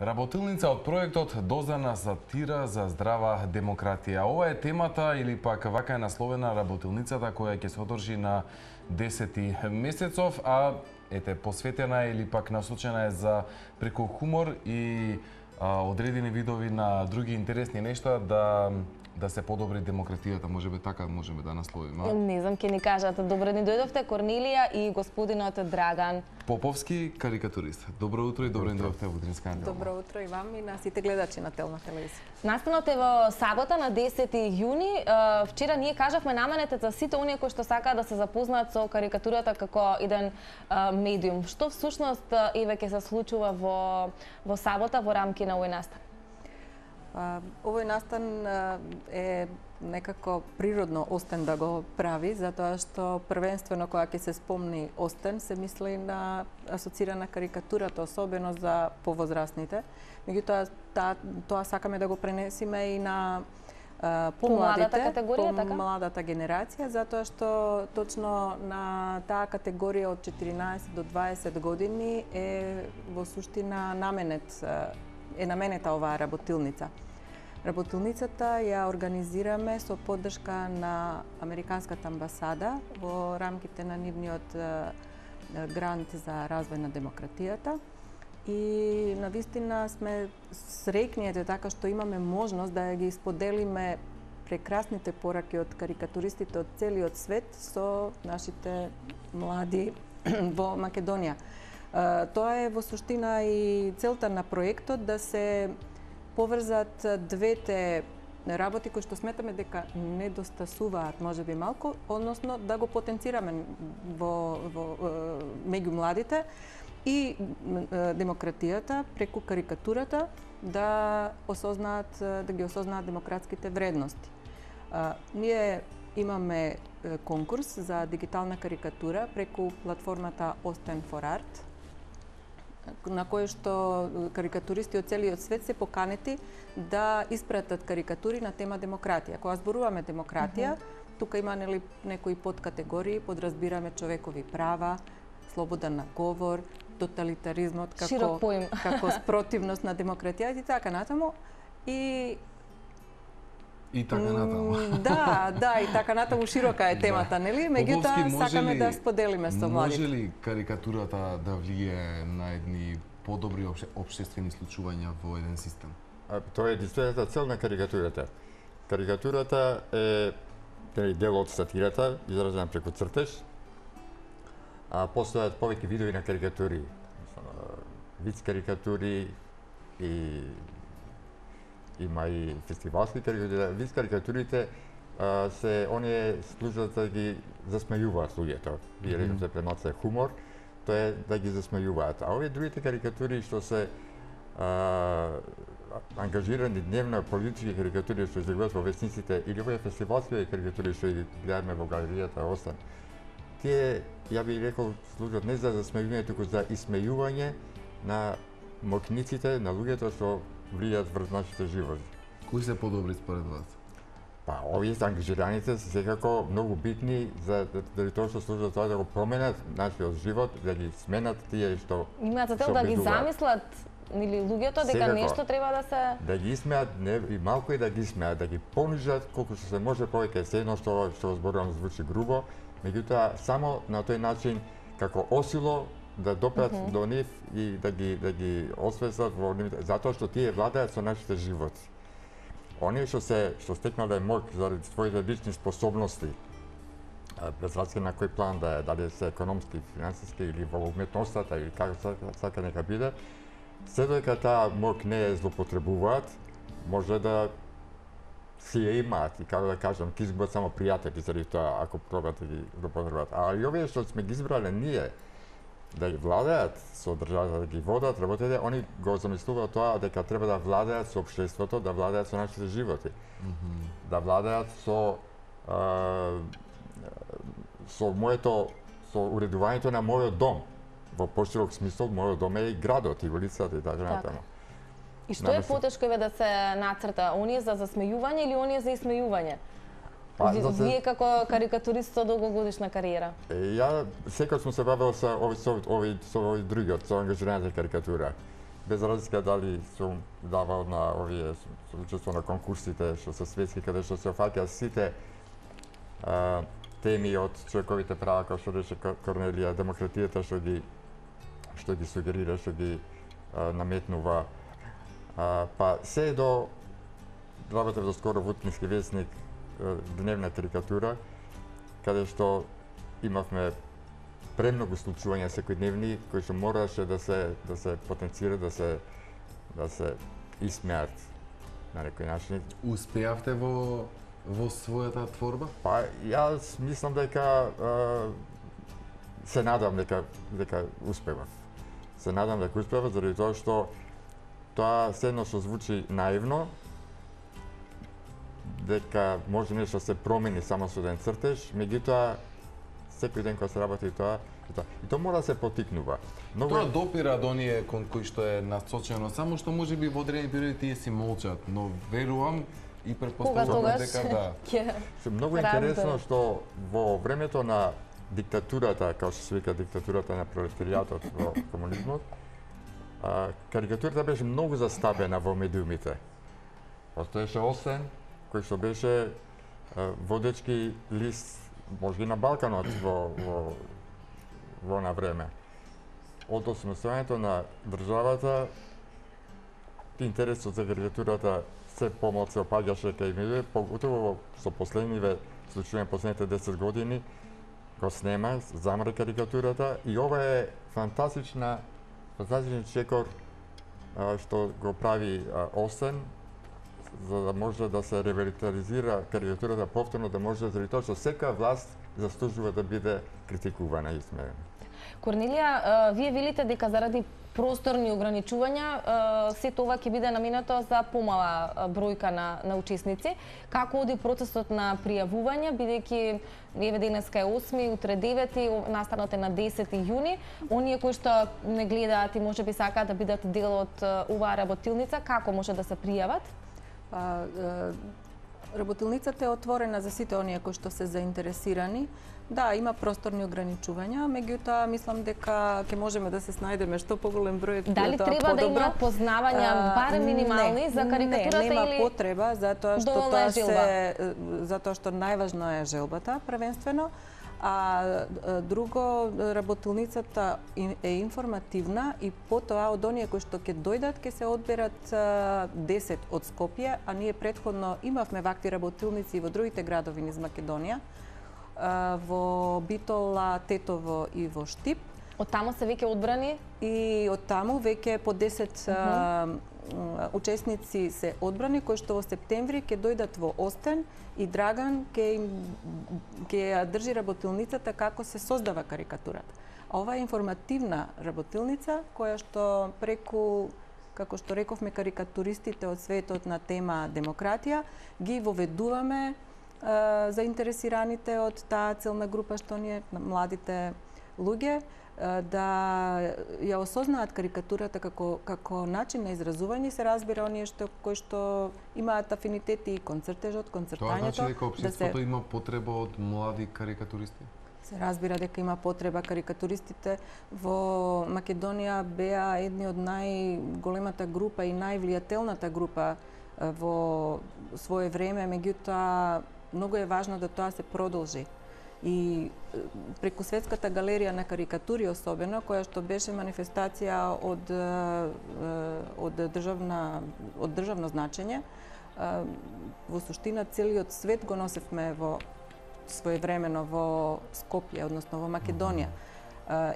Работилница од проектот Дозана сатира за здрава демократија. Ова е темата или пак вака е насловена работилницата која ќе се одржи на 10 месецов, а ете посветена или пак насочена е за преку хумор и одредени видови на други интересни нешта да се подобри демократијата, можеби така можеме да насловиме. Не знам, ќе ни кажат. Добро ни дојдовте Корнелија и господинот Драган Поповски, карикатурист. Добро утро и добро ни дојдовте во Утринска неделя. Добро утро и вам и на сите гледачи на Телна телевизија. Настанот е во сабота на 10 јуни. Вчера ние кажавме наменете за сите оние кои што сакаат да се запознаат со карикатурата како еден медиум. Што всушност еве ќе се случува во сабота во рамки на овој настан? Овој настан е некако природно Остен да го прави, затоа што првенствено кога ќе се спомни Остен се мисли на асоцирана карикатурата, особено за повозрастните. Меѓутоа тоа сакаме да го пренесиме и на помладите, помладата генерација, затоа што точно на таа категорија од 14 до 20 години е во суштина наменета оваа работилница. Работилницата ја организираме со поддршка на Американската амбасада во рамките на нивниот грант за развој на демократијата. И навистина сме среќни така што имаме можност да ги споделиме прекрасните пораки од карикатуристите од целиот свет со нашите млади во Македонија. Тоа е во суштина и целта на проектот да се поврзат двете работи кои што сметаме дека недостасуваат можеби малку, односно да го потенцираме меѓу младите и демократијата преку карикатурата да ги осознаат демократските вредности. Ние имаме конкурс за дигитална карикатура преку платформата Osten for Art, на кој што карикатуристи од целиот свет се поканети да испратат карикатури на тема демократија. Кога зборуваме демократија, тука има некои подкатегории, подразбираме човекови права, слобода на говор, тоталитаризмот како спротивност на демократијата и така натаму. И така натаму. Да, и така натаму широка е темата, нели? Меѓутоа сакаме да споделиме со младите. Може ли карикатурата да влијае на едни подобри општествени случувања во еден систем? Тоа е единствената цел на карикатурата. Карикатурата е дел од сатирата, изразена преку цртеж. Постојат повеќе видови на карикатури. Виц карикатури и има и фестивалски карикатури. Виц карикатурите се оние служат да ги засмејуваат луѓето. Вие рекате премалку е хумор, тоа е да ги засмејуваат. А овие другите карикатури што се ангажирани дневно политички карикатури што излегуваат во весниците или овие фестивалски карикатури што ги гледаме во галеријата Остен, тие, ја би рекол, служат не за засмејување, туку за исмејување на мокниците, на луѓето што влијат врз нашите животи. Кои се подобри според вас? Овие ангажираните се секако многу битни за тоа што служат тоа да го променат нашиот живот, да ги сменат тие што имаат за цел да ги замислат или луѓето дека нешто треба да се да ги смеат, не и малку и да ги смеат, да ги понижат колку што се може повеќе. Се едно што зборувам звучи грубо, меѓутоа само на тој начин како осило да допрат до нив и да ги освестат во нив, затоа што тие владеат со нашите животи. Оние што стекнале моќ заради своите лични способности, без разлика на кој план да е, дали се економски, финансиски или во уметноста или како сака нека биде, се додека таа моќ не е злоупотребуваат, може да си ја имаат и како да кажам, ќе изгубат само пријатели заради тоа ако пробат да ги злоупотребуваат. А и овие што сме ги избрале ние да ги владеат со државата, да ги водат работите, они го замислуваат тоа дека треба да владеат со општеството, да владеат со нашите животи, да владеат со уредувањето на мојот дом. Во поширок смисол, мојот дом е и градот, и улицата и така натаму. И што е потешко да се нацрта? Оние за засмејување или оние за исмејување? Вие како карикатурист со долгогодишна кариера? Ја секогаш сум се бавил со овој другиот, со ангажираната карикатура. без разлика дали сум давал на овие со учество на конкурсите што се светски, каде што се офаќаат сите теми од човековите права, како што рече Корнелија, демократијата што ги сугерира, што ги наметнува. Па се до работев до скоро во Утнински весник, дневна карикатура, каде што имавме премногу случувања секојдневни кои што мораше да се потенцира, да се исмеат на некој начин. Успеавте во својата творба? Па јас мислам дека се надам дека успева. Се надам дека успева заради тоа што тоа се едно што звучи наивно, дека може нешто да се промени само со еден цртеж, меѓутоа секој ден кога се работи тоа, и тоа мора да се потикнува. Тоа допира до оние кон кои што е насочено, само што можеби во одредени периоди тие си молчат, но верувам и претпоставувам дека да. Многу интересно што во времето на диктатурата, како што се вика диктатурата на пролетаријатот во комунизмот, карикатурата беше многу застапена во медиумите. Постоеше Осен, кој што беше водечки лист, може и на Балканот во на време. Од осмислувањето на државата, интересот за карикатурата се помалку се опаѓаше кај медиумите, поготово со последниве случаи последните 10 години го снема, замре карикатурата и ова е фантастичен чекор што го прави Осен, за да може да се ревитализира карикатурата повторно, да може заради тоа што секоја власт заслужува да биде критикувана и смеена. Корнелија, вие велите дека заради просторни ограничувања сето ова ќе биде наменето за помала бројка на учесници. Како оди процесот на пријавување, бидејќи еве денеска е 8, утре 9, настанот е на 10 јуни. Оние кои што не гледаат и можеби сакаат да бидат дел од оваа работилница, како може да се пријават? Работилницата е отворена за сите оние кои што се заинтересирани. Да, има просторни ограничувања, меѓутоа мислам дека ќе можеме да се снајдеме што поголем број тоа дали треба да има познавања барем минимални за карикатурата или нема потреба, затоа што најважно е желбата првенствено. А друго, работилницата е информативна и потоа од оние кои што ќе дојдат ќе се одберат 10 од Скопје, а ние претходно имавме вакви работилници во другите градови низ Македонија, во Битола, Тетово и во Штип. Од таму се веќе одбрани? И од таму веќе по 10 учесници се одбрани, кои што во септември ќе дојдат во Остен и Драган ќе ја држи работилницата како се создава карикатурата. А ова е информативна работилница која што преку, како што рековме, карикатуристите од светот на тема демократија ги воведуваме заинтересираните од таа целна група што ние младите луѓе да ја осознаат карикатурата како начин на изразување. Се разбира оние кои што имаат афинитети и кон цртежот, кон цртањето. Тоа значи дека општеството има потреба од млади карикатуристи? Се разбира дека има потреба. Карикатуристите во Македонија беа едни од најголемата група и највлијателната група во свое време, меѓутоа многу е важно да тоа се продолжи. И преку Светската галерија на карикатури особено, која што беше манифестација од државно значење, во суштина целиот свет го носевме во своевремено во Скопје, односно во Македонија.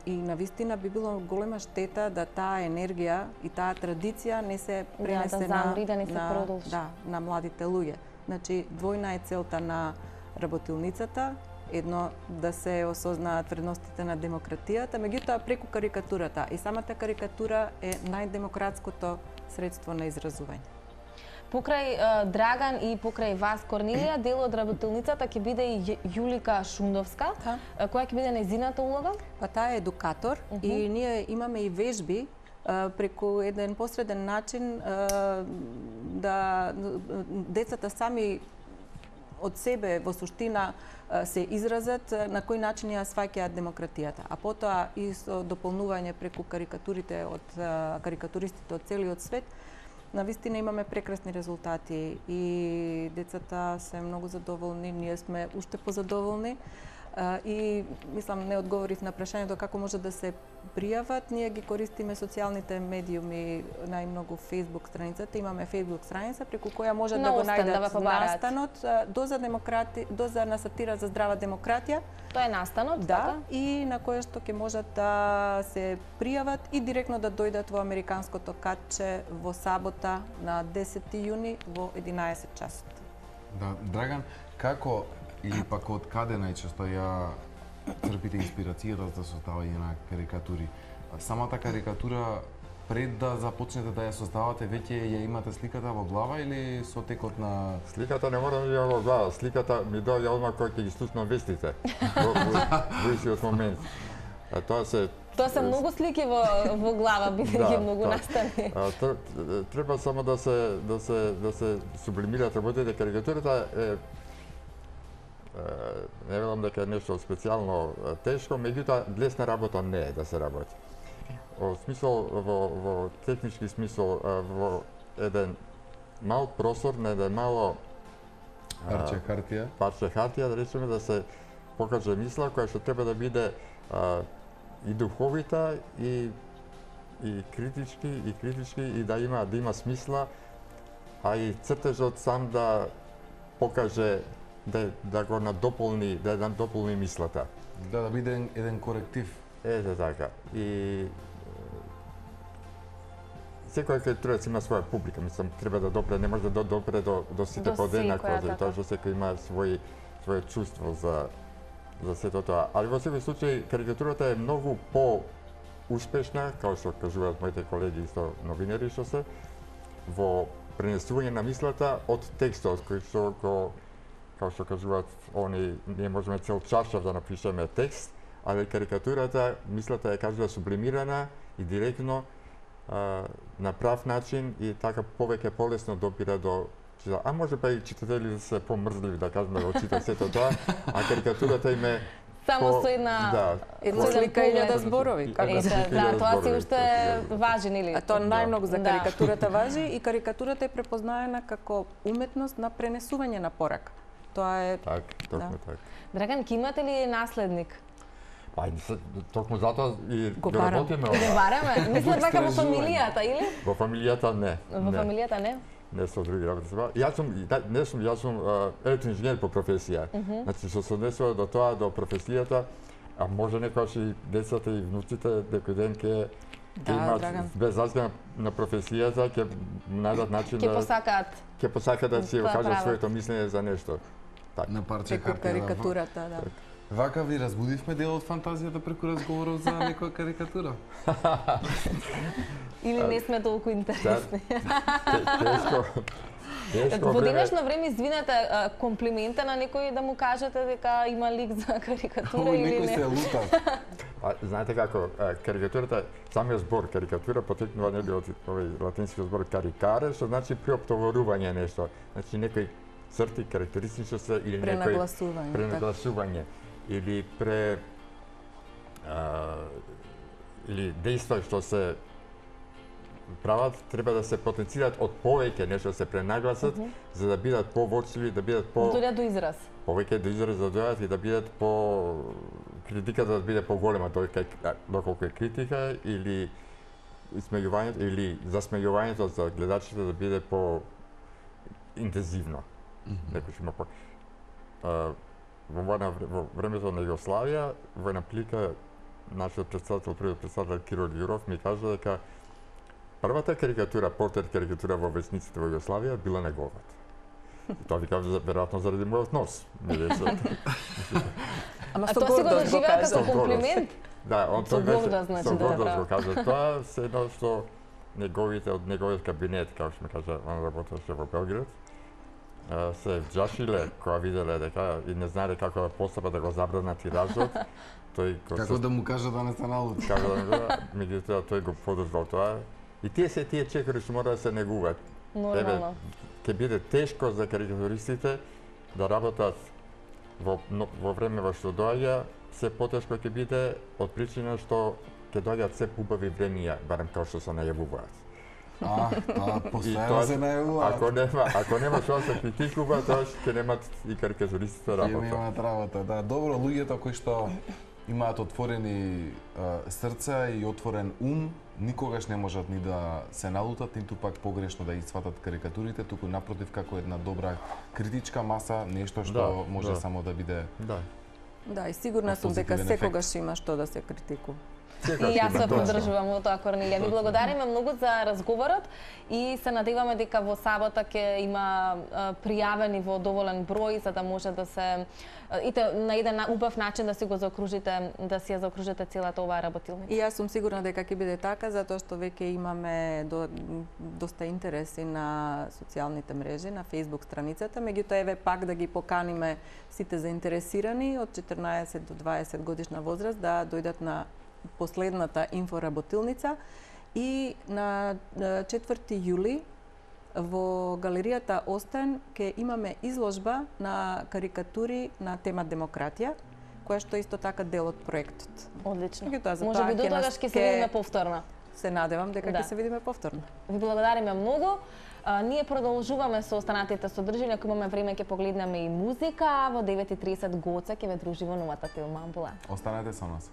И навистина би било голема штета да таа енергија и таа традиција не се пренесе на младите луѓе. Значи, двојна е целта на работилницата. Едно, да се осознаат вредностите на демократијата, меѓутоа преку карикатурата. И самата карикатура е најдемократското средство на изразување. Покрај Драган и покрај вас, Корнелија, дел од работилницата ќе биде и Јулика Шундовска. Која ќе биде нејзината улога? Па таа е едукатор и ние имаме и вежби преку еден посреден начин да децата сами од себе во суштина се изразат, на кој начин ја сваќаат демократијата. А потоа и со дополнување преку карикатурите од карикатуристите од целиот свет, навистина имаме прекрасни резултати и децата се многу задоволни, ние сме уште позадоволни. И мислам не одговорив на прашањето како може да се пријават. Ние ги користиме социјалните медиуми, најмногу Facebook страницата. Имаме Facebook страница преку која може да го најдат настанот доза на сатира за здрава демократија. Тоа е настанот, да, и на која што ќе можат да се пријават и директно да дојдат во американското катче во сабота на 10 јуни во 11 часот. Да, Драган, како или пак од каде најчесто ја црпите инспирацијата за создавање на карикатури? Самата карикатура пред да започнете да ја создавате, веќе ја имате сликата во глава или со текот на... Сликата не мора да ја во глава, сликата ми доаѓа одма кога ќе ги слушнам вестите во истиот момент. Тоа се многу слики во глава, бидејќи многу настани. Треба само да се сублимираат работите. Карикатурата е не велам дека е нешто специјално тешко, меѓутоа лесна работа не е да се работи. Во смисол, во технички смисол, во еден мал просор, на еден мало парче хартија, да речеме, да се покаже мисла која што треба да биде и духовита и критички и да има смисла, а и цртежот сам да покаже да го надополни, да надополни мислата. Да биде еден коректив. Ете така. И секој карикатурац има своја публика, мислам, треба да допре, не може да допре до сите подеднакво, затоа што секој има своје чувство за сето тоа. Али во секој случај карикатурата е многу по-успешна, како што кажуваат моите колеги исто новинери што се, во пренесување на мислата од текстот кој што како што кажуваат они, ние можеме цел чаршав да напишеме текст, али карикатурата, мислата е кажува сублимирана и директно на прав начин и така повеќе полесно допира до читател. А може па и читатели да се помрзливи, да кажеме, да читат сето тоа, а карикатурата им е само со една слика и илјада зборови. Да, тоа си уште важен или? Тоа најмногу за карикатурата важи и карикатурата е препознаена како уметност на пренесување на порака. Тоа е точно така. Драган, ки имате ли наследник? Токму затоа и го работиме. Го бараме? Мислам дека во фамилијата, или? Во фамилијата не. Во фамилијата не? Не со други работи. Јас сум електроинженер по професија. Значи што се однесува до тоа, до професијата, а може некогаш и децата и внуците некој ден ќе имаат без разлика на професијата, ќе најдат начин да ќе посакаат да си кажат своето мислење за нешто. На парче хартија. Карикатурата, да. Вака ви разбудивме дел од фантазијата преку разговорот за некоја карикатура. Или не сме толку интересни. Тешко. Во денешно време, извинете, комплименте на некој да му кажете дека има лик за карикатура или не? Некој се лута. Знаете како, карикатурата, самиот збор карикатура потекнува нели од овој латински збор карикаре, што значи приоптоварување нешто. Значи некој црти карактеристичности или некој пренагласување или или дејства што се прават треба да се потенцираат од повеќе нешто да се пренагласат за да бидат повочливи, да бидат дојдат до израз. Повеќе до израз да дојдат и да бидат критиката да биде поголема доколку е критика или исмејувањето или засмејувањето за гледачите да биде по интензивно. Некој има во времето на Југославија, во една прилика нашиот првиот председател Киро Љуров ми кажа дека првата карикатура, портрет карикатура во весниците во Југославија била неговата. Тоа ви кажа веројатно заради мојот нос. Ама тоа си го доживеа како комплимент? Да, он тоа со гордост го кажа. Тоа се едно што од неговиот кабинет, како што ми кажа, он работеше во Белград, се вџашиле кога виделе дека и не знаеле како да постапат да го забранат тиражот. Како да му кажа да не се налути. Како да не меѓутоа тој го подржал тоа. И тие чекори што мора да се негуваат. Нормално. Ќе биде тешко за карикатуристите да работат во време во што доаѓа, се потешко ќе биде од причина што ќе доаѓаат се убави времиња, барем како што се најавуваат. Постојано се најавуваат. Ако нема што да се критикува, тоа ќе немат и карикатуристите работа. Ќе немаат работа, да. Добро, луѓето кои што имаат отворени срца и отворен ум, никогаш не можат ни да се налутат, ниту пак погрешно да испатат карикатурите, туку напротив како една добра критичка маса, нешто што може само да биде. Да, и сигурна сум дека секогаш има што да се критикува. И јас се поддржувам во тоа, Корнелија. Ви благодариме многу за разговорот и се надеваме дека во сабота ќе има пријавени во доволен број за да може да се на еден убав начин да си го заокружите, да си ја заокружите целата оваа работилница. И јас сум сигурна дека ќе биде така затоа што веќе имаме доста интереси на социјалните мрежи, на Facebook страницата, меѓутоа еве пак да ги поканиме сите заинтересирани од 14 до 20 годишна возраст да дојдат на последната инфоработилница и на 4 јули во галеријата Остен ќе имаме изложба на карикатури на тема демократија, која што исто така дел од проектот. Одлично. Може би до тогаш ќе се видиме повторно. Се надевам дека ќе се видиме повторно. Ви благодариме многу. Ние продолжуваме со останатите содржини, ако имаме време ќе погледнеме и музика, во 9:30 Гоца ќе ве дружи во новата тема Амбулант. Останете со нас.